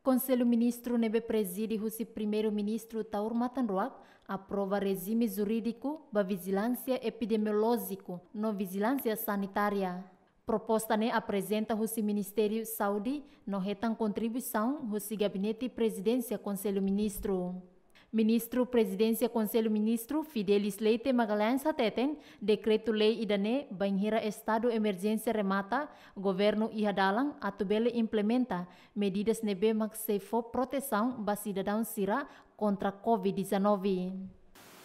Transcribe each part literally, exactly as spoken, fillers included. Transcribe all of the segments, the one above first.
Konsellu Ministru ne'ebé prezide husi Primeiru-Ministru Taur Matan Ruak aprova rejime jurídiku ba vijilánsia epidemiolójiku no vijilánsia sanitária. Proposta ne'e aprezenta husi Ministériu Saúde no hetan kontribuisaun husi Gabinete Prezidénsia Konsellu Ministru. Ministru Prezidénsia Konsellu Ministru Fidelis Leite Magalhães hateten, dekretu-lei ida-ne'e bainhira estadu emerjénsia remata, governu iha dalan atu bele implementa medidas ne'ebé mak sei fó protesaun ba sidadaun sira kontra covid dezanove.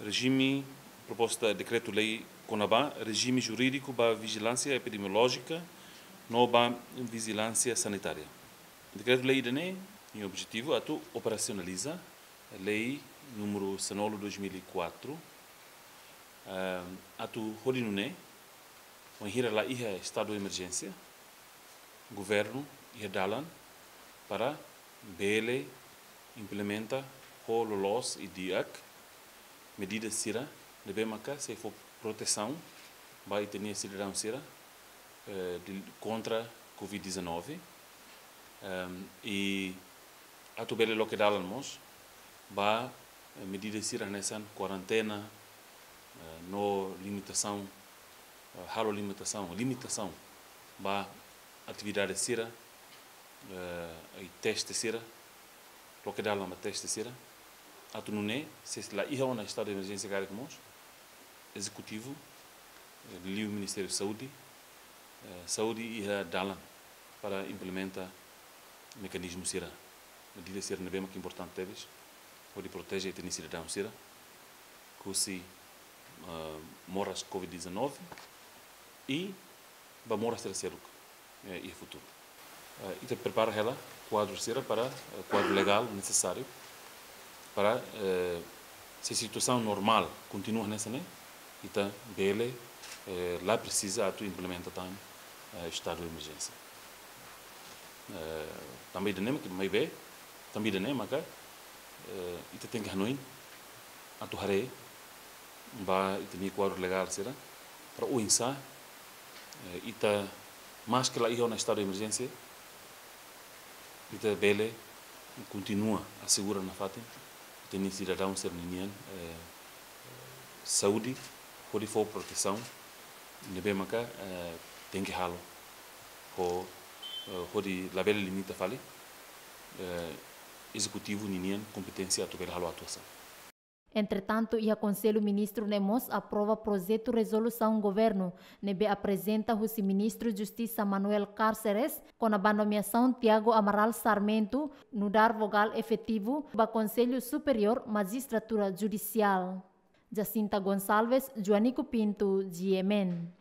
Rejime, proposta dekretu-lei kona-ba rejime jurídiku ba vijilánsia epidemiolójika no ba vijilánsia sanitária. Dekretu-lei ida-ne'e nia objetivu atu operasionaliza lei número sanulu dois mil e quatro, ehm, atu hodi nune'e, bainhira la iha estadu emerjénsia, governu iha dalan para bele implementa ho loloos i di'ak medida sira ne'ebé maka sei fó protesaun ba ita-nia sidadaun sira, eh, di, kontra covid dezanove, ehm, i atu bele loke dalan mós ba, eh, medida sira hanesan kuarentena, eh, no limitasaun, eh, halo limitasaun, limitasaun ba atividade sira, eh, i teste sira, loke dalan ba teste sira. Atu nune'e, se la iha ona estadu de emerjénsia karik mós, ezekutivu, eh, liu Ministériu Saúde, eh, Saúde iha dalan para implementa mekanizmu sira, medida sira ne'ebé mak importante tebes, hodi proteje ita-nia sidadaun sira husi, eh, moras covid dezanove i ba moras sira seluk, eh, iha futuru. Eh, ita prepara hela kuadru sira para, eh, kuadru legál nesesáriu para, eh, se situasaun normál kontinua hanesan ne'e, ita bele, eh, la presiza atu implementa tan, eh, estadu de emerjénsia. Eh, tanba ida-ne'e mak, maibé, tanba ida-ne'e maka, eh, ita tenke hanoin atu haree ba ita-nia kuadru legál sira, para oinsá, eh, ita, maske la iha ona estadu de emerjénsia, ita bele kontinua asegura nafatin ita-nia sidadaun sira-nian, eh, saúde, hodi fó protesaun ne'ebé maka, eh, tenke halo, ho, eh, hodi labele limita fali, eh, ezekutivu ninian kompeténsia atu bele halo atuasaun. Entretantu, iha Konsellu Ministru ne'e mós aprova projetu rezolusaun governu ne'ebé aprezenta husi Ministru Justisa Manuel Cárceres kona-ba nomeasaun Tiago Amaral Sarmento nu'udar vogál efetivu ba Konsellu Superiór Majistratura Judisiál. Jacinta Gonçalves, Joanico Pinto, G M N.